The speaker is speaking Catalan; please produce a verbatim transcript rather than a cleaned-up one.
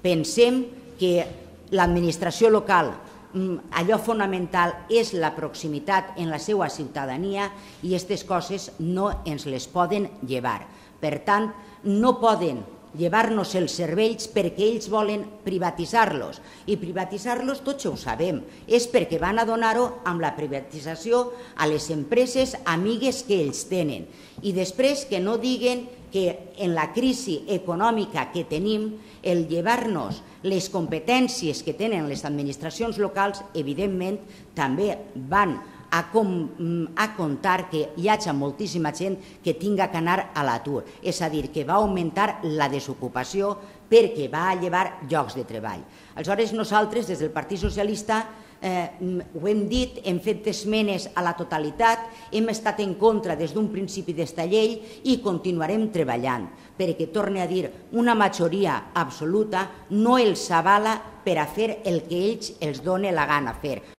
Pensem que l'administració local, allò fonamental és la proximitat en la seva ciutadania i aquestes coses no ens les poden llevar. Per tant, no poden llevar-nos els cervells perquè ells volen privatitzar-los. I privatitzar-los, tots ho sabem, és perquè van a donar-ho amb la privatització a les empreses amigues que ells tenen. I després que no diguen que en la crisi econòmica que tenim, el llevar-nos les competències que tenen les administracions locals, evidentment, també van a comptar que hi hagi moltíssima gent que tinga que anar a l'atur. És a dir, que va augmentar la desocupació perquè va llevar llocs de treball. Aleshores, nosaltres, des del Partit Socialista, ho hem dit, hem fet esmenes a la totalitat, hem estat en contra des d'un principi d'esta llei i continuarem treballant, perquè, torne a dir, una majoria absoluta no els avala per a fer el que ells els dona la gana fer.